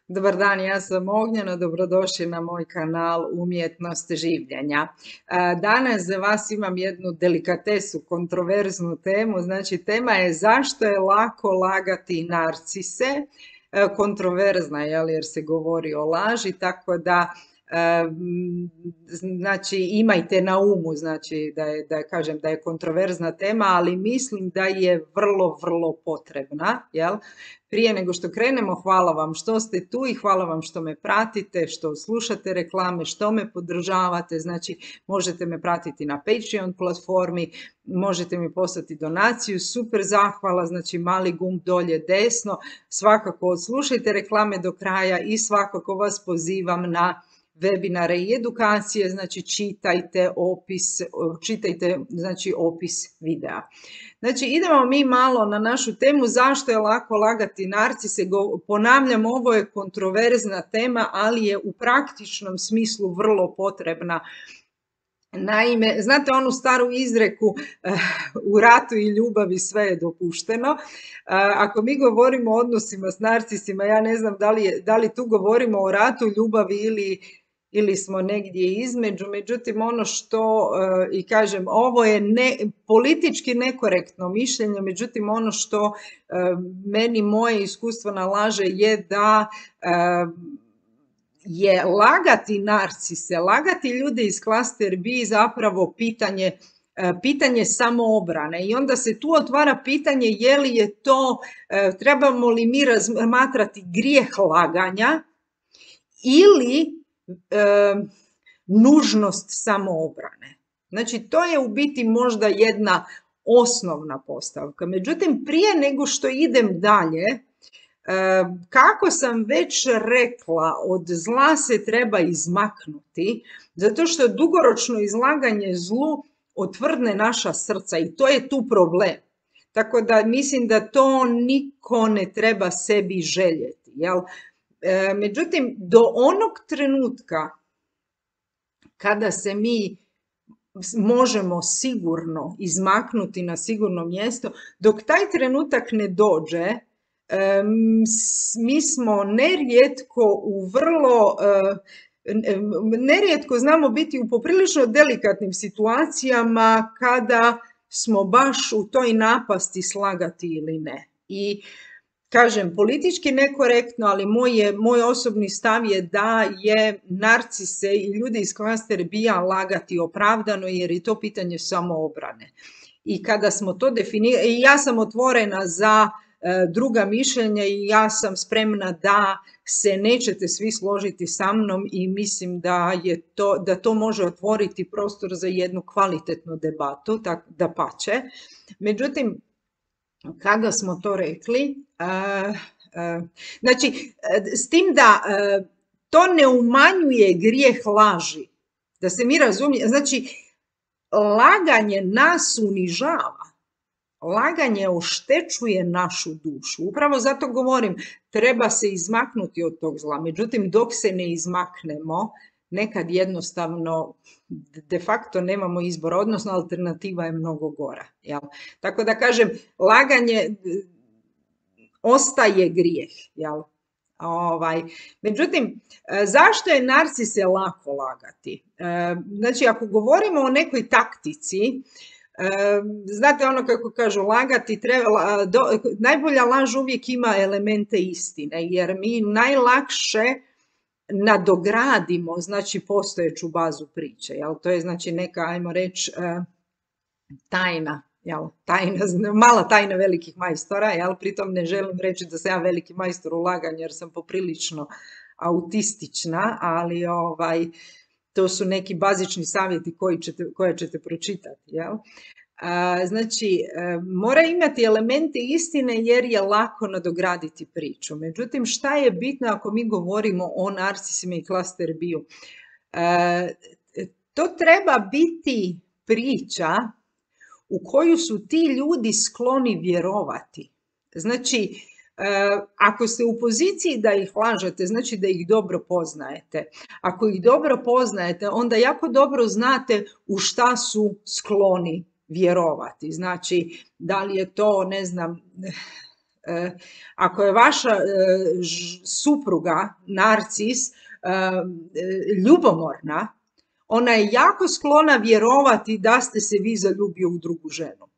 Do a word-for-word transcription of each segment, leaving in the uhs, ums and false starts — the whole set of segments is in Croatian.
Dobar dan, ja sam Ognjena, dobrodošli na moj kanal Umjetnost življenja. Danas za vas imam jednu delikatesu, kontroverznu temu, znači tema je zašto je lako lagati narcise, kontroverzna je jer se govori o laži, tako da znači imajte na umu, znači da je, da je, kažem da je kontroverzna tema, ali mislim da je vrlo, vrlo potrebna, jel? Prije nego što krenemo, hvala vam što ste tu i hvala vam što me pratite, što slušate reklame, što me podržavate, znači možete me pratiti na Patreon platformi, možete mi poslati donaciju, super zahvala, znači mali gumb dolje desno, svakako odslušajte reklame do kraja i svakako vas pozivam na webinare i edukacije, znači čitajte opis, čitajte znači opis videa. Znači idemo mi malo na našu temu zašto je lako lagati narcise. Ponavljam, ovo je kontroverzna tema, ali je u praktičnom smislu vrlo potrebna. Naime, znate onu staru izreku u ratu i ljubavi sve je dopušteno. Ako mi govorimo o odnosima s narcisima, ja ne znam da li, je, da li tu govorimo o ratu, ljubavi ili ili smo negdje između, međutim ono što, i kažem, ovo je ne, politički nekorektno mišljenje, međutim ono što meni moje iskustvo nalaže je da je lagati narcise, lagati ljude iz klaster B zapravo pitanje, pitanje samoobrane i onda se tu otvara pitanje je li je to, trebamo li mi razmatrati grijeh laganja ili E, nužnost samoobrane. Znači to je u biti možda jedna osnovna postavka. Međutim, prije nego što idem dalje, e, kako sam već rekla, od zla se treba izmaknuti, zato što dugoročno izlaganje zlu otvrdne naša srca i to je tu problem. Tako da mislim da to niko ne treba sebi željeti, jel? Međutim, do onog trenutka kada se mi možemo sigurno izmaknuti na sigurno mjesto, dok taj trenutak ne dođe, mi smo nerijetko u vrlo, nerijetko znamo biti u poprilično delikatnim situacijama kada smo baš u toj napasti slagati ili ne. I kažem, politički nekorektno, ali moj, je, moj osobni stav je da je narcise i ljudi iz klaster B-a lagati opravdano jer je to pitanje samoobrane. I kada smo to definirali, ja sam otvorena za e, druga mišljenja i ja sam spremna da se nećete svi složiti sa mnom i mislim da, je to, da to može otvoriti prostor za jednu kvalitetnu debatu, tak, da pače. Međutim, kada smo to rekli, uh, uh, znači, uh, s tim da uh, to ne umanjuje grijeh laži, da se mi razumije, znači, laganje nas unižava, laganje oštećuje našu dušu, upravo zato govorim, treba se izmaknuti od tog zla, međutim, dok se ne izmaknemo, nekad jednostavno de facto nemamo izbora, odnosno alternativa je mnogo gora. Jel? Tako da kažem, laganje ostaje grijeh. Jel? Ovaj. Međutim, zašto je narcise lako lagati? Znači, ako govorimo o nekoj taktici, znate ono kako kažu, lagati treba, do, najbolja laž uvijek ima elemente istine, jer mi najlakše nadogradimo, znači, postojeću bazu priče, jel? To je, znači, neka, ajmo reći, tajna, jel? Tajna, mala tajna velikih majstora, jel? Pritom ne želim reći da sam ja veliki majstor u laganju, jer sam poprilično autistična, ali ovaj, to su neki bazični savjeti koji ćete, koje ćete pročitati, jel? Znači, mora imati elemente istine jer je lako nadograditi priču. Međutim, šta je bitno ako mi govorimo o narcisima i klaster B-u? To treba biti priča u koju su ti ljudi skloni vjerovati. Znači, ako ste u poziciji da ih lažete, znači da ih dobro poznajete. Ako ih dobro poznajete, onda jako dobro znate u šta su skloni vjerovati. Znači, da li je to, ne znam, Ako je vaša supruga, narcis, ljubomorna, ona je jako sklona vjerovati da ste se vi zaljubio u drugu ženu.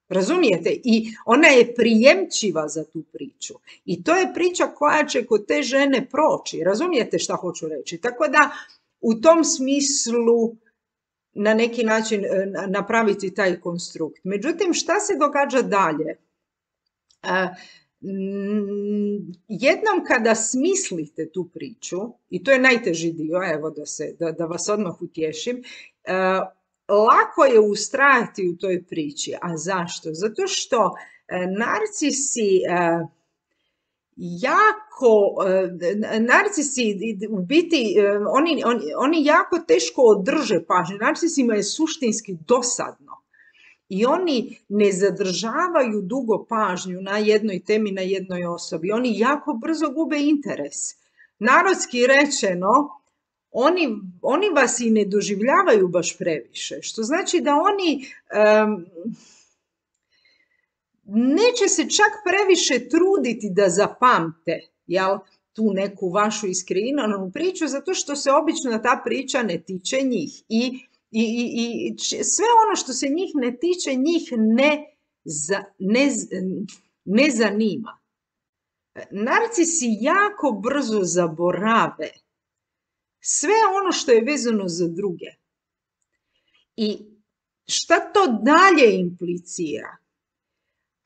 Razumijete? I ona je prijemčiva za tu priču. I to je priča koja će kod te žene proći. Razumijete šta hoću reći? Tako da u tom smislu na neki način napraviti taj konstrukt. Međutim, šta se događa dalje? Jednom kada smislite tu priču, i to je najteži dio, evo da, se, da, da vas odmah utješim, lako je ustrajati u toj priči. A zašto? Zato što narcisi jako, narcisi u biti, oni, oni, oni jako teško održe pažnju. Narcisima je suštinski dosadno. I oni ne zadržavaju dugo pažnju na jednoj temi, na jednoj osobi. Oni jako brzo gube interes. Narodski rečeno, oni, oni vas i ne doživljavaju baš previše. Što znači da oni um, neće se čak previše truditi da zapamte, jel, tu neku vašu iskreiranu priču, zato što se obično ta priča ne tiče njih. I I, i, i sve ono što se njih ne tiče, njih ne, za, ne, ne zanima. Narcisi jako brzo zaborave sve ono što je vezano za druge. I šta to dalje implicira?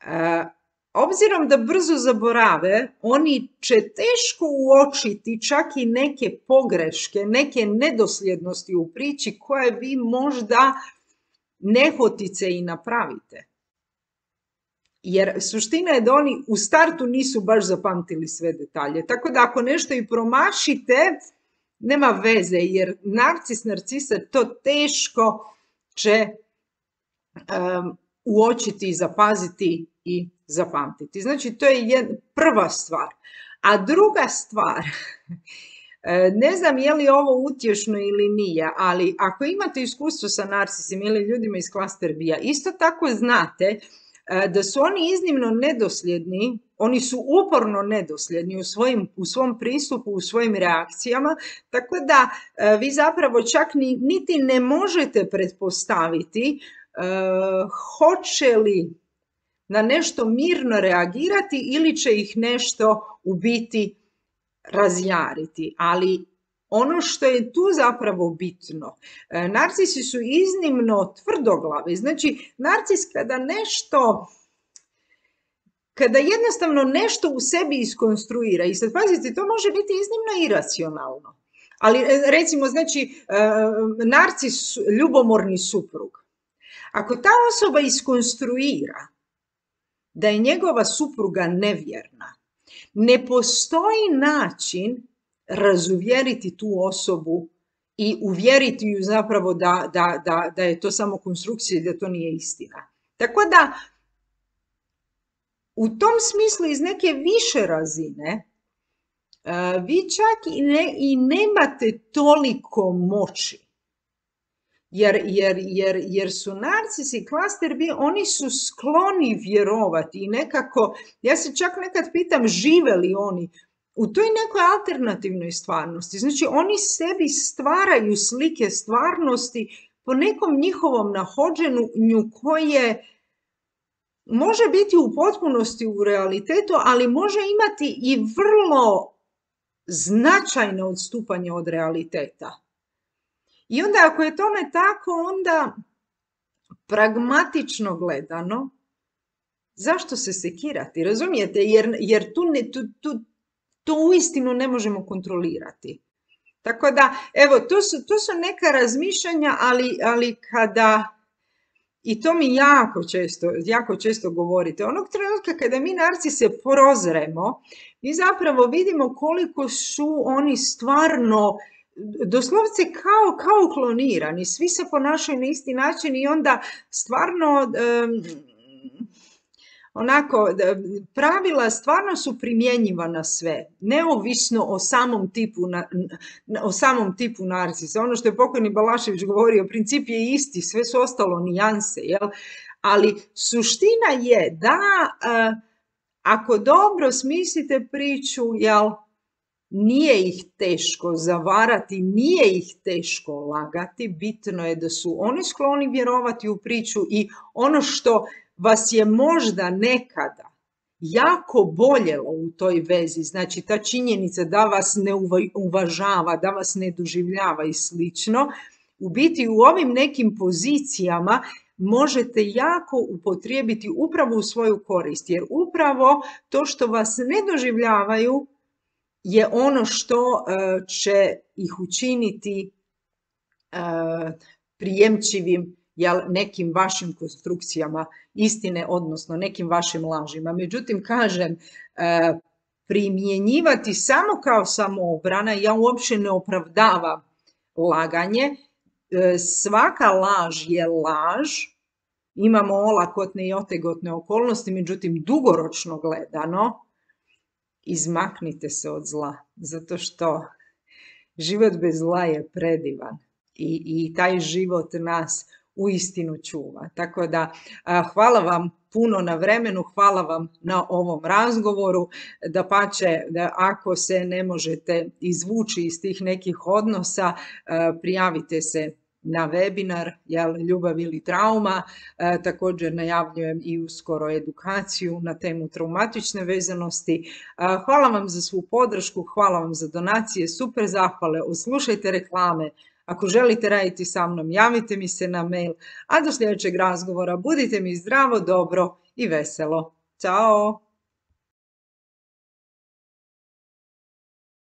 E, obzirom da brzo zaborave, oni će teško uočiti čak i neke pogreške, neke nedosljednosti u priči koje vi možda nehotice i napravite. Jer suština je da oni u startu nisu baš zapamtili sve detalje. Tako da ako nešto i promašite, nema veze, jer narcis, narcisa to teško će um, uočiti, zapaziti i zapamtiti. Znači, to je jedna, prva stvar. A druga stvar, ne znam je li ovo utješno ili nije, ali ako imate iskustvo sa narcisima ili ljudima iz klaster B-a, isto tako znate da su oni iznimno nedosljedni, oni su uporno nedosljedni u, svojim, u svom pristupu, u svojim reakcijama, tako da vi zapravo čak ni, niti ne možete pretpostaviti uh, hoće li na nešto mirno reagirati ili će ih nešto u biti razjariti. Ali ono što je tu zapravo bitno, narcisi su iznimno tvrdoglavi. Znači, narcis kada nešto, kada jednostavno nešto u sebi iskonstruira, i sad pazite, to može biti iznimno iracionalno. Ali recimo, znači, narcis, ljubomorni suprug. Ako ta osoba iskonstruira da je njegova supruga nevjerna, ne postoji način razuvjeriti tu osobu i uvjeriti ju zapravo da, da, da, da je to samo konstrukcija i da to nije istina. Tako da, u tom smislu iz neke više razine, vi čak i, ne, i nemate toliko moći. Jer, jer, jer, jer su narcisi klaster B, oni su skloni vjerovati i nekako, ja se čak nekad pitam žive li oni u toj nekoj alternativnoj stvarnosti. Znači oni sebi stvaraju slike stvarnosti po nekom njihovom nahođenju koje može biti u potpunosti u realitetu, ali može imati i vrlo značajno odstupanje od realiteta. I onda ako je tome tako, onda pragmatično gledano, zašto se sekirati? Razumijete? Jer, jer tu, ne, tu, tu, tu uistinu ne možemo kontrolirati. Tako da, evo, to su, to su neka razmišljanja, ali, ali kada, i to mi jako često, jako često govorite, onog trenutka kada mi narcise prozremo, mi zapravo vidimo koliko su oni stvarno doslovce kao, kao klonirani, svi se ponašaju na isti način i onda stvarno um, onako pravila stvarno su primjenjiva na sve, neovisno o samom tipu, na, o samom tipu narcisa. Ono što je pokojni Balašević govorio, princip je isti, sve su ostalo nijanse, jel? Ali suština je da uh, ako dobro smislite priču, jel, nije ih teško zavarati, nije ih teško lagati, bitno je da su oni skloni vjerovati u priču i ono što vas je možda nekada jako boljelo u toj vezi, znači ta činjenica da vas ne uvažava, da vas ne doživljava i slično, u biti u ovim nekim pozicijama možete jako upotrijebiti upravo u svoju korist, jer upravo to što vas ne doživljavaju je ono što će ih učiniti prijemčivim, jel, nekim vašim konstrukcijama istine, odnosno nekim vašim lažima. Međutim, kažem, primjenjivati samo kao samoobrana, ja uopće ne opravdavam laganje. Svaka laž je laž, imamo olakotne i otegotne okolnosti, međutim, dugoročno gledano, izmaknite se od zla, zato što život bez zla je predivan i, i taj život nas uistinu čuva. Tako da a, hvala vam puno na vremenu, hvala vam na ovom razgovoru, dapače, da ako se ne možete izvući iz tih nekih odnosa, a, prijavite se na webinar, jel, ljubav ili trauma. E, također najavljujem i uskoro edukaciju na temu traumatične vezanosti. E, hvala vam za svu podršku, hvala vam za donacije, super zahvale, oslušajte reklame. Ako želite raditi sa mnom, javite mi se na mail, a do sljedećeg razgovora budite mi zdravo, dobro i veselo. Ćao!